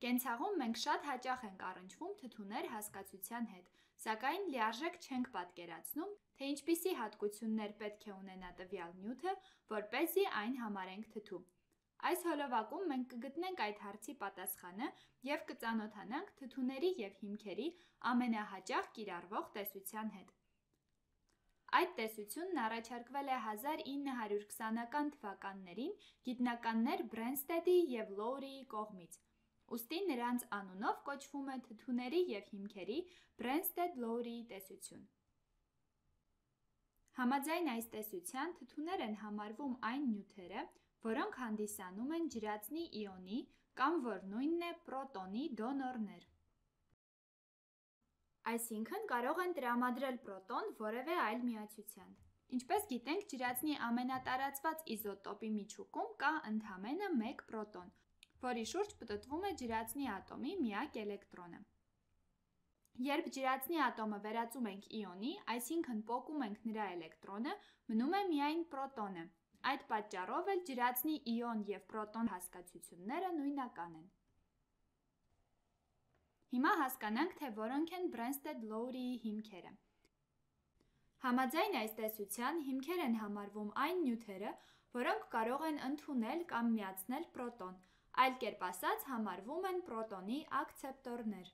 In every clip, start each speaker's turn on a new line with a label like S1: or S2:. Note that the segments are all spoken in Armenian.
S1: Կենցաղում մենք շատ հաճախ ենք առնչվում թթուներ հասկացության հետ, սակայն լիարժեք չենք պատկերացնում, թե ինչպիսի հատկություններ պետք է ունենա տվյալ նյութը, որպեսզի այն համարենք թթու։ Այս հոլովակում մենք կգտնենք այդ հարցի պատասխանը և կծանոթանանք թթուների և հիմքերի ամենահաճախ կիրառվող տեսության հետ։ Այդ տեսությունն առաջարկվել է 1920-ական թվականներին գիտնականներ Բրենստեդի և Լոուրիի կողմից, ուստի նրանց անունով կոչվում է թթուների և հիմքերի Բրենստեդ-Լոուրիի տեսություն։ Համաձայն այս տեսության, թթուներ են համարվում այն նյութերը, որոնք հանդիսանում են ջրածնի իոնի կամ որ նույնն է պրոտոնի դոնորներ։ Այսինքն կարող են տրամադրել պրոտոն որևէ այլ միացության։ Ինչպես գիտենք, ջրածնի ամենատարածված իզոտոպի միջուկում կա ընդամենը մեկ պրոտոն, որի շուրջ պտտվում է ջրածնի ատոմի միակ էլեկտրոնը։ Երբ ջրածնի ատոմը վերածում ենք իոնի, այսինքն պոկում ենք նրա էլեկտրոնը, մնում է միայն պրոտոնը։ Այդ պատճառով էլ ջրածնի իոն և պրոտոն հասկացությունները նույնական են։ Հիմա հասկանանք, թե որոնք են Բրենստեդ-Լոուրիի հիմքերը։ Համաձայն այս տեսության, հիմքեր են համարվում այն նյութերը, որոնք կարող են ընդունել կամ միացնել պրոտոն, այլ կերպ ասած համարվում են պրոտոնի ակցեպտորներ։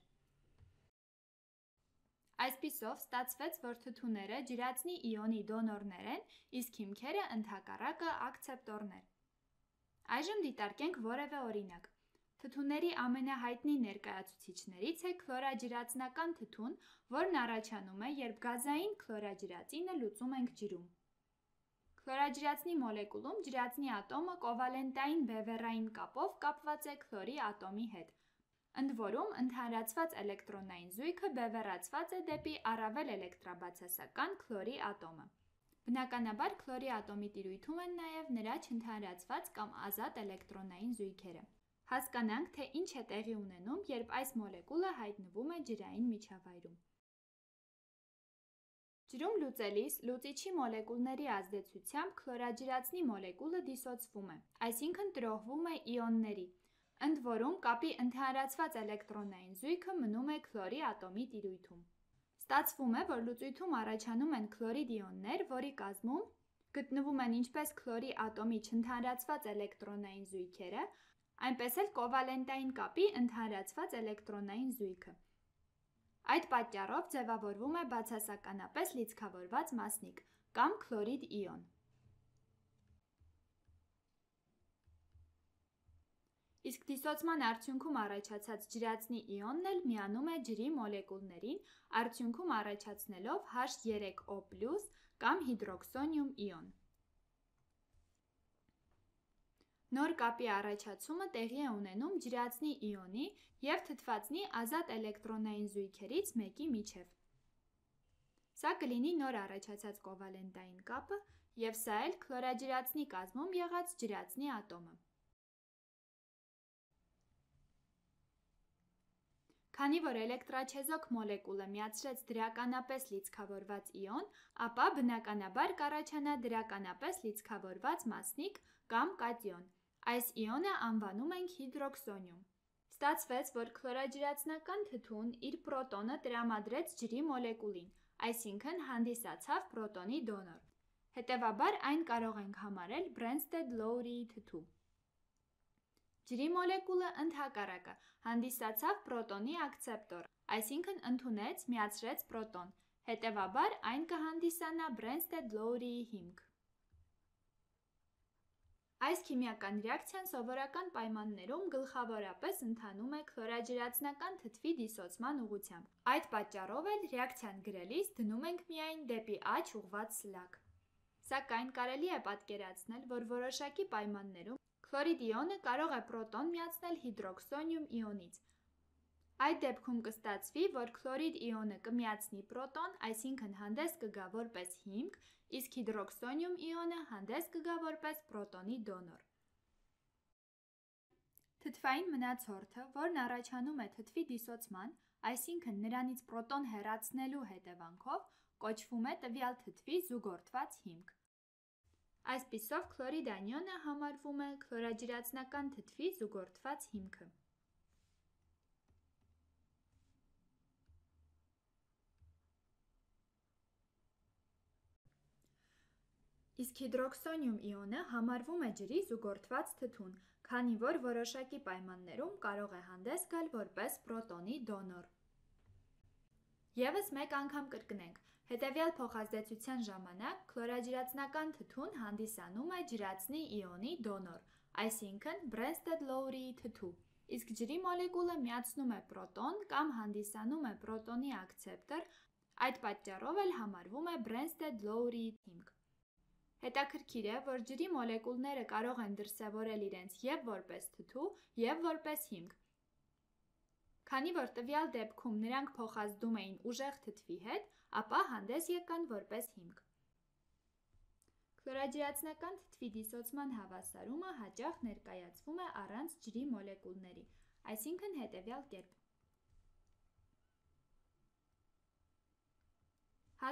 S1: Այսպիսով ստացվեց, որ թթուները ջրածնի իոնի դոնորներ են, իսկ հիմքերը ընդհակառակը ակցեպտորներ։ Այժմ դիտարկենք որևէ օրինակ։ Թթուների ամենահայտնի ներկայացուցիչներից է քլորաջրածնական թթուն, որն առաջանում է, երբ գազային քլորաջրածինը լուծում ենք ջրում։ Քլորաջրածնի մոլեկուլում ջրածնի ատոմը կովալենտային բևեռային կապով կապված է քլորի ատոմի հետ, ընդ որում ընդհանրացված էլեկտրոնային զույգը բևեռացված է դեպի առավել էլեկտրաբացասական քլորի ատոմը։ Բնականաբար քլորի ատոմի տիրույթում են նաև նրա չընդհանրացված կամ ազատ էլեկտրոնային զույգերը։ Հասկանանք, թե ինչ է տեղի ունենում, երբ այս մոլեկուլը հայտնվում է ջրային միջավայրում։ Ջրում լուծելիս լուծիչի մոլեկուլների ազդեցությամբ քլորաջրածնի մոլեկուլը դիսոցվում է, այսինքն տրոհվում է իոնների, ընդ որում կապի ընդհանրացված էլեկտրոնային զույգը մնում է քլորի ատոմի տիրույթում։ Ստացվում է, որ լուծույթում առաջանում են քլորիդ իոններ, որի կազմում գտնվում են ինչպես քլորի ատոմի չընդհանրացված էլեկտրոնային զույգերը, այնպես էլ կովալենտային կապի ընդհանրացված էլեկտրոնային զույգը։ Այդ պատճառով ձևավորվում է բացասականապես լիցքավորված մասնիկ կամ քլորիդ իոն։ Իսկ դիսոցման արդյունքում առաջացած ջրածնի իոնն էլ միանում է ջրի մոլեկուլներին, արդյունքում առաջացնելով H3O+ կամ հիդրոքսոնիում իոն։ Նոր կապի առաջացումը տեղի է ունենում ջրածնի իոնի և թթվածնի ազատ էլեկտրոնային զույգերից մեկի միջև։ Սա կլինի նոր առաջացած կովալենտային կապը, և սա էլ քլորաջրածնի կազմում եղած ջրածնի ատոմը։ Քանի որ էլեկտրաչեզոք մոլեկուլը միացրեց դրականապես լիցքավորված իոն, ապա բնականաբար կառաջանա դրականապես լիցքավորված մասնիկ կամ կատիոն։ Այս իոնը անվանում ենք հիդրոքսոնիում։ Ստացվեց, որ քլորաջրածնական թթուն իր պրոտոնը տրամադրեց ջրի մոլեկուլին, այսինքն հանդիսացավ պրոտոնի դոնոր։ Հետևաբար այն կարող ենք համարել Բրենստեդ-Լոուրիի թթու։ Ջրի մոլեկուլը ընդհակառակը հանդիսացավ պրոտոնի ակցեպտոր, այսինքն ընդունեց, միացրեց պրոտոն, հետևաբար այն կհանդիսանա Բրենստեդ-Լոուրիի հիմք։ Այս քիմիական ռեակցիան սովորական պայմաններում գլխավորապես ընթանում է քլորաջրածնական թթվի դիսոցման ուղղությամբ։ Այդ պատճառով էլ ռեակցիան գրելիս դնում ենք միայն դեպի աջ ուղղված սլակ։ Սակայն կարելի է պատկերացնել, որ որոշակի պայմաններում քլորիդ իոնը կարող է պրոտոն միացնել հիդրոքսոնիում իոնից։ Այդ դեպքում կստացվի, որ քլորիդ իոնը կմիացնի պրոտոն, այսինքն հանդես կգա որպես հիմք, իսկ հիդրոքսոնիում իոնը հանդես կգա որպես պրոտոնի դոնոր։ Թթվային մնացորդը, որն առաջանում է թթվի դիսոցման, այսինքն նրանից պրոտոն հեռացնելու հետևանքով, կոչվում է տվյալ թթվի զուգորդված հիմք։ Այսպիսով քլորիդ անիոնը համարվում է քլորաջրածնական թթվի զուգորդված հիմքը։ Իսկ հիդրոքսոնիում իոնը համարվում է ջրի զուգորդված թթուն, քանի որ որոշակի պայմաններում կարող է հանդես գալ որպես պրոտոնի դոնոր։ Եվս մեկ անգամ կրկնենք, հետևյալ փոխազդեցության ժամանակ քլորաջրածնական թթուն հանդիսանում է ջրածնի իոնի դոնոր, այսինքն Brensted-Lowry թթու, իսկ ջրի մոլեկուլը միացնում է պրոտոն կամ հանդիսանում է պրոտոնի ակցեպտոր, այդ պատճառով էլ համարվում է Brensted-Lowry հիմք։ Հետաքրքիր է, որ ջրի մոլեկուլները կարող են դրսևորել իրենց և որպես թթու, և որպես հիմք։ Քանի որ տվյալ դեպքում նրանք փոխազդում էին ուժեղ թթվի հետ, ապա հանդես եկան որպես հիմք։ Քլորաջրածնական թթվի դիսոցման հավասարումը հաճախ ներկայացվում է առանց ջրի մոլեկուլների, այսինքն հետևյալ կերպ.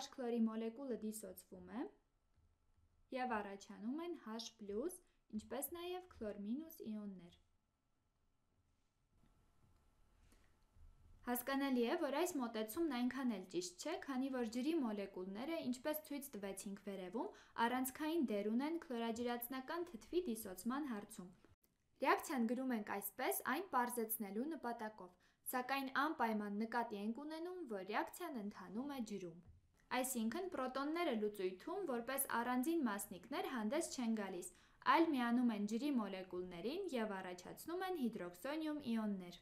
S1: H քլորի մոլեկուլը դիսոցվում է և առաջանում են H+, ինչպես նաև քլոր- իոններ։ Հասկանալի է, որ այս մոտեցումն այնքան էլ ճիշտ չէ, քանի որ ջրի մոլեկուլները, ինչպես ցույց տվեցինք վերևում, առանցքային դեր ունեն քլորաջրածնական թթվի դիսոցման հարցում։ Ռեակցիան գրում ենք այսպես այն պարզեցնելու նպատակով, սակայն անպայման նկատի ենք ունենում, որ ռեակցիան ընթանում է ջրում։ Այսինքն պրոտոնները լուծույթում որպես առանձին մասնիկներ հանդես չեն գալիս, այլ միանում են ջրի մոլեկուլներին և առաջացնում են հիդրոքսոնիում իոններ։